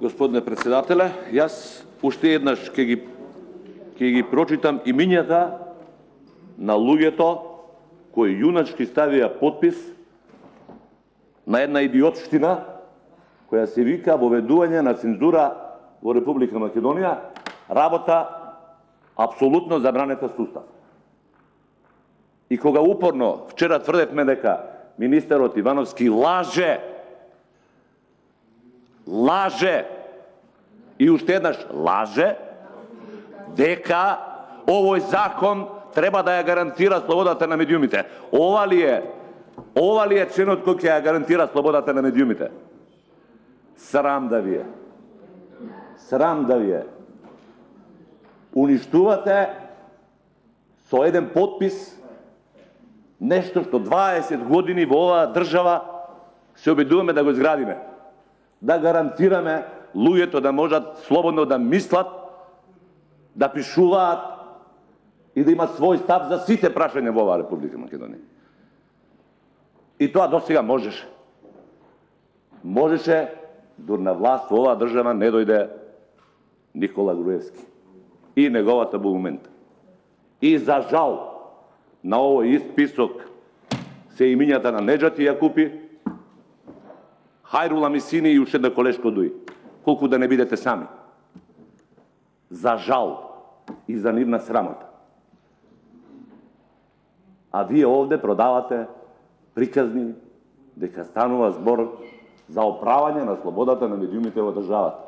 Господине председателе, јас уште еднаш ќе ги прочитам имињата на луѓето кои јуначки ставија подпис на една идиотштина која се вика воведување на цензура во Република Македонија, работа апсолутно забранета сустав. И кога упорно вчера тврдевме дека министерот Ивановски лаже и уште еднаш лаже дека овој закон треба да ја гарантира слободата на медиумите. Ова ли е членот кој ќе ја гарантира слободата на медиумите? Срам да ви е. Срам да ви е. Уништувате со еден подпис нешто што 20 години во оваа држава се обидуваме да го изградиме. Да гарантираме луѓето да можат слободно да мислат, да пишуваат и да имат свој став за сите прашања во оваа Република Македонија. И тоа досега можеше. Можеше, дур на власт во оваа држава не дојде Никола Груевски и неговата булумента. И за жал, на овој ист список се имињата на Неджати Јакупи, Хајрула Мисини и уште една колешко дуи. Колку да не бидете сами. За жал и за нивна срамота. А вие овде продавате приказни дека станува збор за оправање на слободата на медиумите во државата.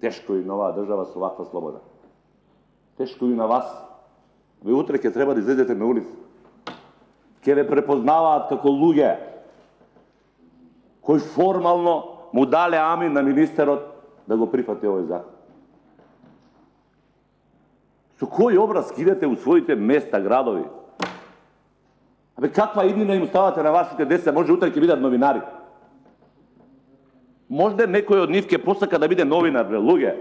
Тешко и на оваа држава со ваква слобода. Тешко и на вас. Ве утре ќе треба да излезете на улица. Ќе ве препознаваат како луѓе кои формално му дале амин на министерот да го прифати овој закон. Со кој образ кидете у своите места, градови? Абе, каква иднина им ставате на вашите деца? Може утре ќе бидат новинари. Може некој од нив ќе посака да биде новинар, бре, луѓе.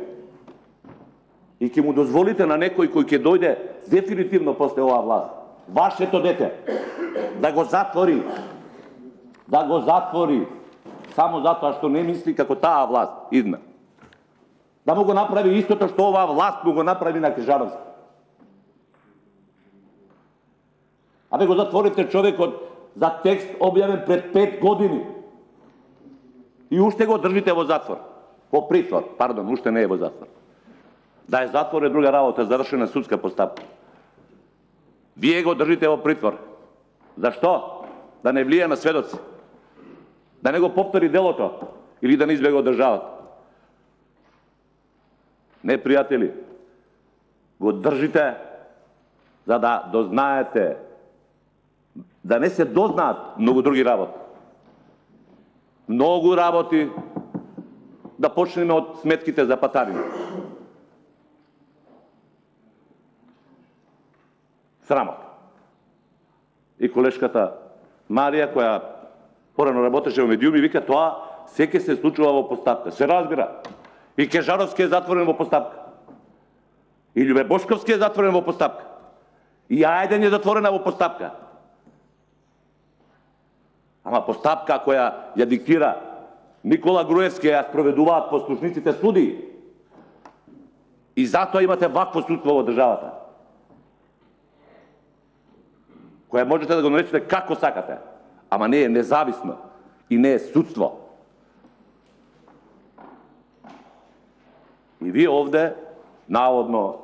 И ќе му дозволите на некој кој ќе дојде дефинитивно после оваа власт, вашето дете, да го затвори. Да го затвори. Само затоа што не мисли како таа власт идна. Да му го направи истото што оваа власт му го направи на Крижановски. Абе го затворите човекот за текст објавен пред 5 години. И уште го држите во затвор. Во притвор, пардон, уште не е во затвор. Да е затвор е друга работа, завршена судска постапка. Вие го држите во притвор. Зашто? Да не влие на сведоци. Да не го повтори делото или да не избега од државата. Не, пријатели, го држите за да дознаете, да не се дознаат многу други работи. Многу работи, да почнеме од сметките за патарини. Срамот. И колешката Марија, која порано работеше во медиуми, вика тоа секе се случува во постапка. Се разбира. И Кежаровски е затворен во постапка. И Љубе Бошковски е затворен во постапка. И Ајден е затворена во постапка. Ама постапка која ја диктира Никола Груевски, ја спроведуваат послушниците суди. И затоа имате вакво судство во државата. Која можете да го наречете како сакате, ама не е независно и не е судство. И вие овде, наводно,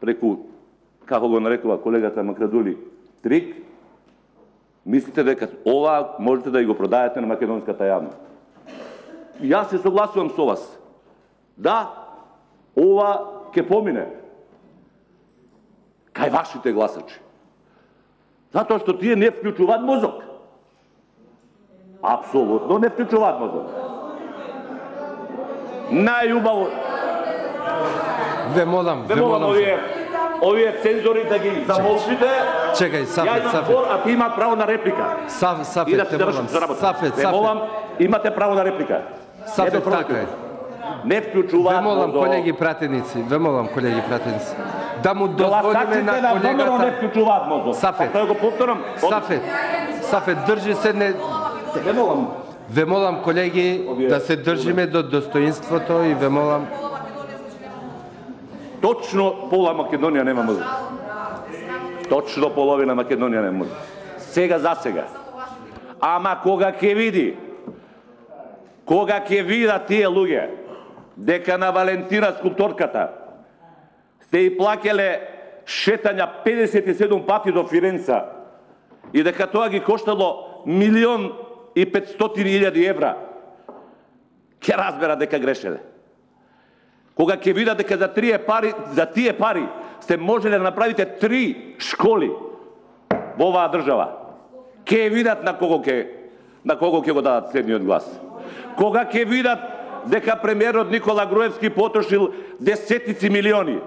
преку, како го нарекува колегата Макрадули, трик, мислите дека ова можете да го продаете на македонската јавност. Јас се согласувам со вас. Да, ова ќе помине кај вашите гласачи. Затоа што тие не вклучуваат мозок. Апсолутно не вклучуваат мозок. Најубаво. Ве молам овие цензори да ги замолчите. Чекај, Сафет. А ти имат право на реплика. Сафет, те молам. Те молам, имате право на реплика. Сафет, така е. Не вклучуваат мозок. Ве молам, колеги пратеници, да му дозволиме на колегата... не вклучуваат мозок. Сафет, го повторам. Сафет, држи се не... Не молам. Ве молам, колеги, да се држиме до достоинството и ве молам... Точно пола Македонија нема музика. Точно половина Македонија нема музика. Сега за сега. Ама кога ќе видат тие луѓе дека на Валентина скулпторката сте и плакеле шетања 57 пати до Фиренца и дека тоа ги коштало 1.500.000 евра, ќе разбера дека грешеле. Кога ќе видат дека за тие пари сте можеле да направите 3 школи во оваа држава, ќе видат на кого ќе го дадат следниот глас. Кога ќе видат дека премиерот Никола Груевски потрошил десетици милиони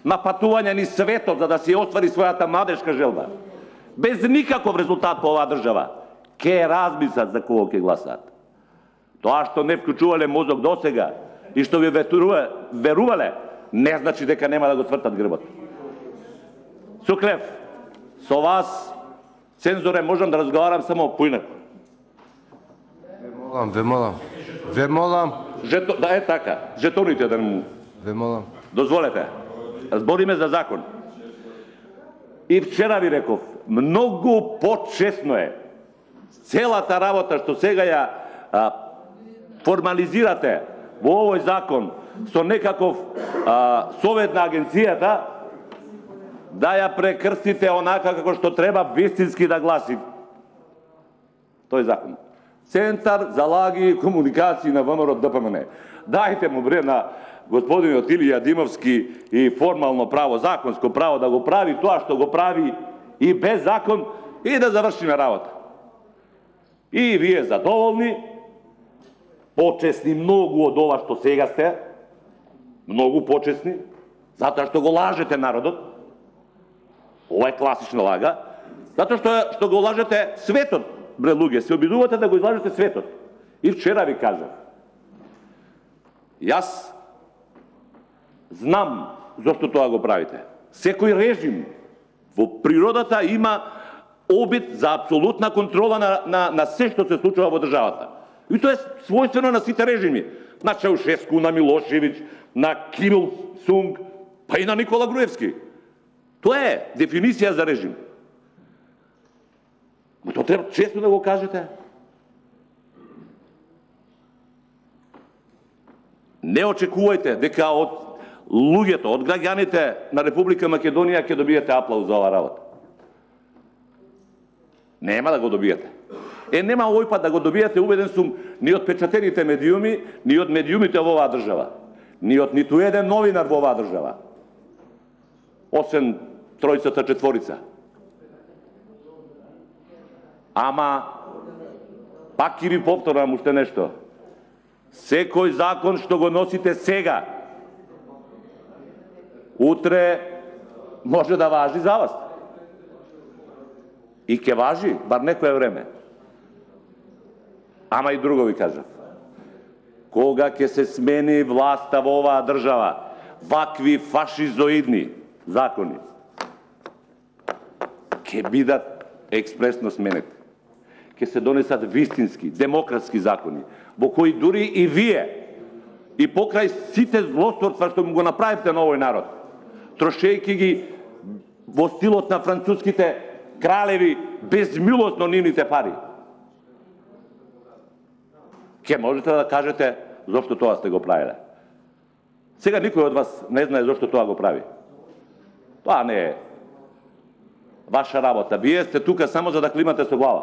на патување низ светот за да се оствари својата младешка желба, без никаков резултат по оваа држава, ќе размислат за кого ќе гласаат. Тоа што не вклучувале мозок досега и што ви верувале, не значи дека нема да го цвртат грбот. Суклев, со вас, цензоре, можам да разговарам само поинаку. Ве молам. Да е така, жетоните да му... Ве молам. Дозволете, збориме за закон. И вчера ви реков, многу почесно е целата работа што сега ја формализирате во овој закон со некаков совет на агенцијата, да ја прекрстите онака како што треба вистински да гласи тој закон. Центар за лаги и комуникации на ВМРО ДПМН. Дајте му бре на господинот Илија Димовски и формално право, законско право да го прави тоа што го прави и без закон и да завршиме работа. И вие задоволни, почесни многу од ова што сега сте, многу почесни, затоа што го лажете народот. Ова е класична лага, затоа што го лажете светот, бре луѓе, се обидувате да го излажете светот. И вчера ви кажав, јас знам зошто тоа го правите. Секој режим во природата има обид за апсолутна контрола на се што се случува во државата. И тоа е својствено на сите режими. На Чаушеску, на Милошевиќ, на Ким Ил Сунг, па и на Никола Груевски. Тоа е дефиниција за режим. Но тоа треба често да го кажете. Не очекувајте дека од луѓето, од граѓаните на Република Македонија ќе добиете аплауз за оваа работа. Нема да го добиете. Нема овој пат да го добиете, убеден сум, ни од печатените медиуми, ни од медиумите во оваа држава, ни од ниту еден новинар во оваа држава, освен тројцата четворица. Ама, пак ќе ви повторам уште нешто. Секој закон што го носите сега, утре може да важи за вас. И ќе важи, бар некое време. Ама и друго ви кажав. Кога ќе се смени власта во оваа држава, вакви фашизоидни закони ќе бидат експресно сменети. Ќе се донесат вистински, демократски закони, во кои дури и вие, и покрај сите злосторства што му го направивте на овој народ, трошејќи ги во стилот на француските кралеви безмилостно нивните пари, ќе можете да кажете зошто тоа сте го правиле. Сега никој од вас не знае зошто тоа го прави. Тоа не е ваша работа. Вие сте тука само за да климате со глава.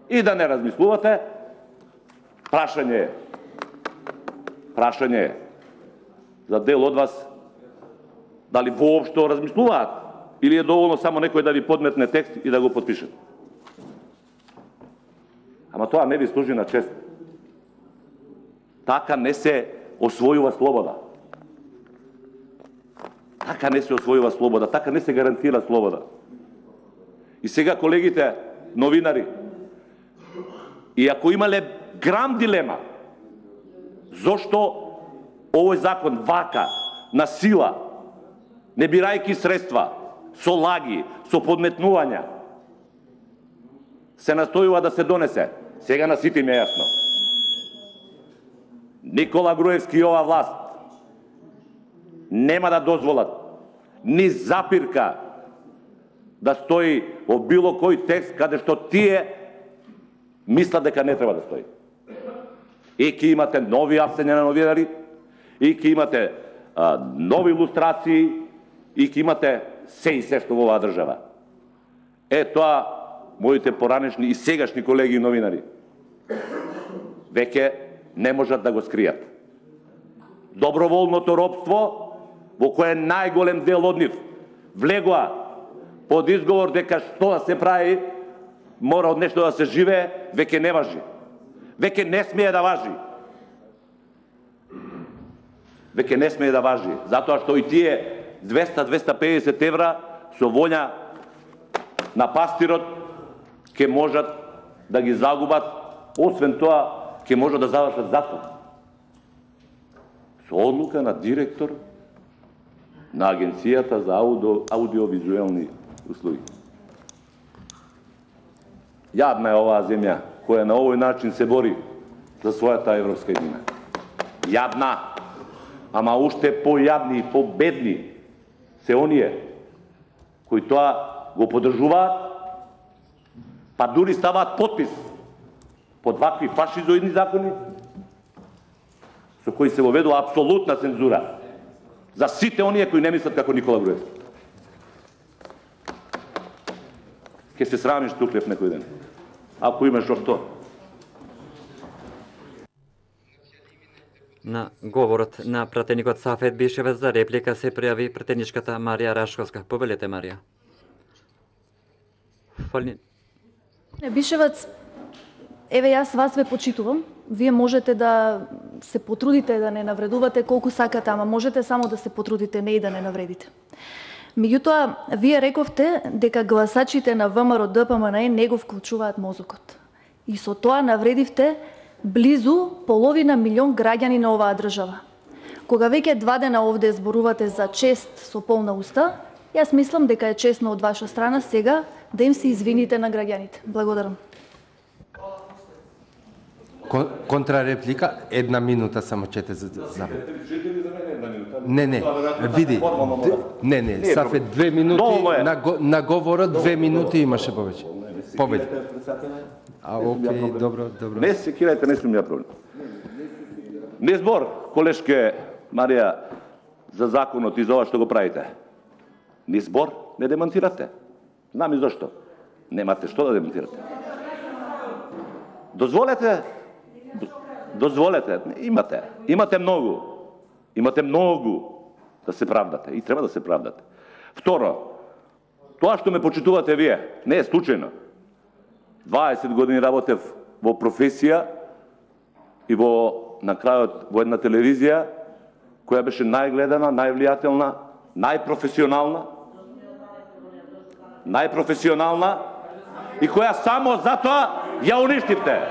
И да не размислувате. Прашање е за дел од вас дали воопшто размислуваат или е доволно само некој да ви подметне текст и да го подпише. Ама тоа не ви служи на чест. Така не се освојува слобода. Така не се освојува слобода, така не се гарантира слобода. И сега колегите новинари, и ако имале грам дилема зошто овој закон вака, на сила, не бирајки средства, со лаги, со подметнувања, се настојува да се донесе, Сега на сите им е јасно. Никола Груевски и ова власт нема да дозволат ни запирка да стои во било кој текст каде што тие мислат дека не треба да стои. И ќе имате нови апсења на новинари, и ќе имате нови илустрации, и ќе имате се што во оваа држава. Тоа, моите поранешни и сегашни колеги новинари, веќе не можат да го скријат. Доброволното робство, во кое најголем дел од нив влегоа под изговор дека што да се прави, мора од нешто да се живее, веќе не важи. Веќе не смее да важи. Веќе не смее да важи, затоа што и тие 200-250 евра со волја на пастирот ќе можат да ги загубат, освен тоа ќе можат да завршат затвор. Со одлука на директор на Агенцијата за аудиовизуелни услуги. Јадна е оваа земја која на овој начин се бори за својата европска едина. Јадна, ама уште појадни и победни се оние кои тоа го поддржуваат, па дури ставаат потпис под вакви фашизоидни закони, со кои се воведува апсолутна цензура за сите оние кои не мислат како Никола Груевски. Ке се срамиш туклев некој ден, ако имаш што. На говорот на пратеникот Сафет Бишевец за реплика се пријави пратеничката Марија Рашковска. Повелете, Марија. Бишевец, еве јас вас ве почитувам. Вие можете да се потрудите да не навредувате колку сакате, ама можете само да се потрудите, не и да не навредите. Меѓутоа, вие рековте дека гласачите на ВМРО ДПМН не го вклучуваат мозокот. И со тоа навредивте близу половина милион граѓани на оваа држава. Кога веќе 2 дена овде зборувате за чест со полна уста, јас мислам дека е честно од ваша страна сега да им се извините на граѓаните. Благодарам. Контрареплика, 1 минута само чете за Не, види. Не, Сафет 2 минути, на говорот 2 минути имаше повеќе. Повеќе. Окей, добро. Не се кирајте, не сум ја проблем. Не збор, колешке Марија, за законот и за ова што го правите. Ни збор, не демонтирате. Знам и зашто. Немате што да демонтирате. Дозволете, имате многу да се правдате и треба да се правдате. Второ, тоа што ме почитувате вие, не е случајно. 20 години работев во професија и на крајот во една телевизија која беше најгледана, највлијателна, најпрофесионална и која само затоа ја уништивте.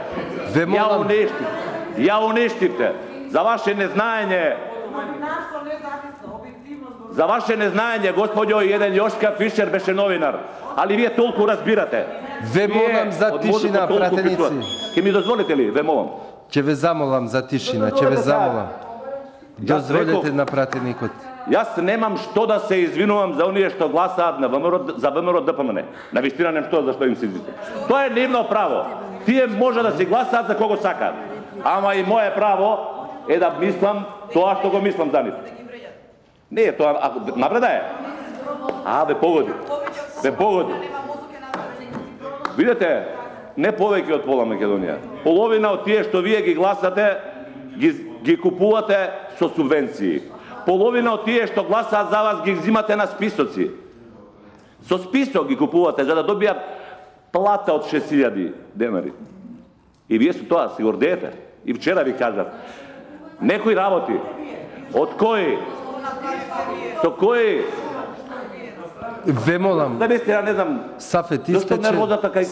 Ја уништивте. За ваше незнаење, господјо, и еден Јошка Фишер беше новинар. Али вие толку разбирате. Ве молам за тишина, пратеници. Ке ми дозволите ли? Ве молам. Ќе ве замолам за тишина, Дозволете на пратеникот. Јас немам што да се извинувам за оние што гласаат за ВМРО ДПМН. Навистина нем што зашто им се извинувам. Тоа е нивно право. Тие може да си гласаат за кого сакаат. Ама и мое право е да мислам тоа што го мислам за нив. Не е тоа, напреда е. Ве погоди. Видете, не повеќе од пола Македонија. Половина од тие што вие ги гласате, ги купувате со субвенции. Половина од тие што гласаат за вас ги взимате на списоци. Со список ги купувате за да добијат плата од 6000 денари. И вие со тоа се гордеете. И вчера ви кажав, некои работи, од кои, со кои... Ве молам. Навистина не знам. Сафет, истече. Зашто нервозата кај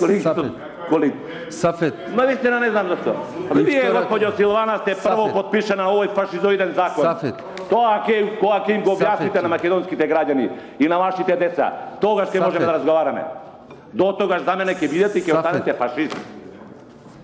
колегите? Сафет. Навистина не знам зашто. Вие, господјо Силвана, сте прво подпишена овој фашизоиден закон. Сафет. Тоа кога ќе им го објасните на македонските граѓани и на вашите деца, тогаш ќе можеме да разговараме. До тогаш за мене ќе бидете и ќе останете фашисти.